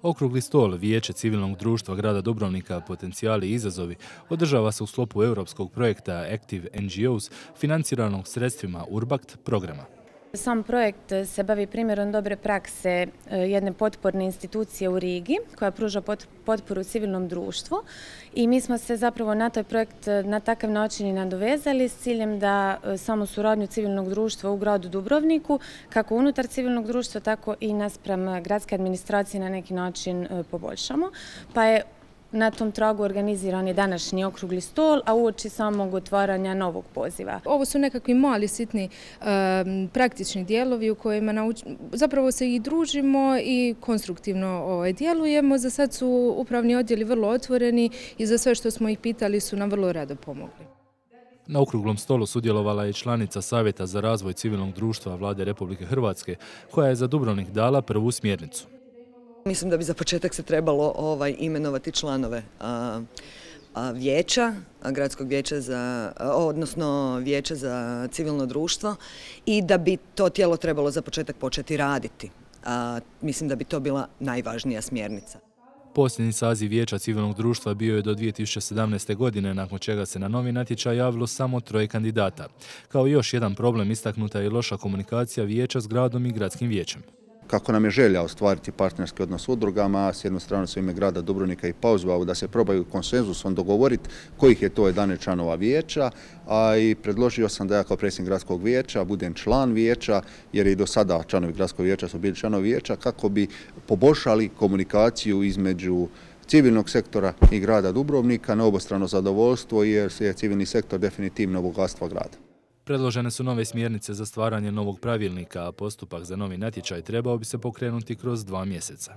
Okrugli stol Vijeće civilnog društva grada Dubrovnika Potencijali i izazovi održava se u sklopu europskog projekta Active NGOs financiranog sredstvima Urbact programa. Sam projekt se bavi primjerom dobre prakse jedne potporne institucije u Rigi koja pruža potporu civilnom društvu i mi smo se zapravo na taj projekt na takav način i nadovezali s ciljem da samu suradnju civilnog društva u gradu Dubrovniku, kako unutar civilnog društva, tako i naspram gradske administracije na neki način poboljšamo. Pa je na tom tragu organiziran je današnji okrugli stol, a uoči samog otvaranja novog poziva. Ovo su nekakvi mali, sitni, praktični dijelovi u kojima zapravo se i družimo i konstruktivno djelujemo. Za sad su upravni odjeli vrlo otvoreni i za sve što smo ih pitali su nam vrlo rado pomogli. Na okruglom stolu sudjelovala je članica Savjeta za razvoj civilnog društva Vlade Republike Hrvatske, koja je za Dubrovnik dala prvu smjernicu. Mislim da bi za početak se trebalo imenovati članove vijeća, gradskog vijeća odnosno vijeća za civilno društvo i da bi to tijelo trebalo za početak početi raditi. Mislim da bi to bila najvažnija smjernica. Posljednji saziv Vijeća civilnog društva bio je do 2017. godine, nakon čega se na novi natječaj javilo samo 3 kandidata. Kao još jedan problem istaknuta je i loša komunikacija vijeća s gradom i gradskim vijećem. Kako nam je želja ostvariti partnerski odnos s udrugama, s jedne strane su ime grada Dubrovnika i pozvao da se probaju konsenzusom dogovoriti kojih je to 11 članova vijeća, a i predložio sam da ja kao predsjednik gradskog vijeća budem član vijeća, jer i do sada članovi gradskog vijeća su bili članovi vijeća, kako bi poboljšali komunikaciju između civilnog sektora i grada Dubrovnika na obostrano zadovoljstvo, jer je civilni sektor definitivno bogatstvo grada. Predložene su nove smjernice za stvaranje novog pravilnika, a postupak za novi natječaj trebao bi se pokrenuti kroz 2 mjeseca.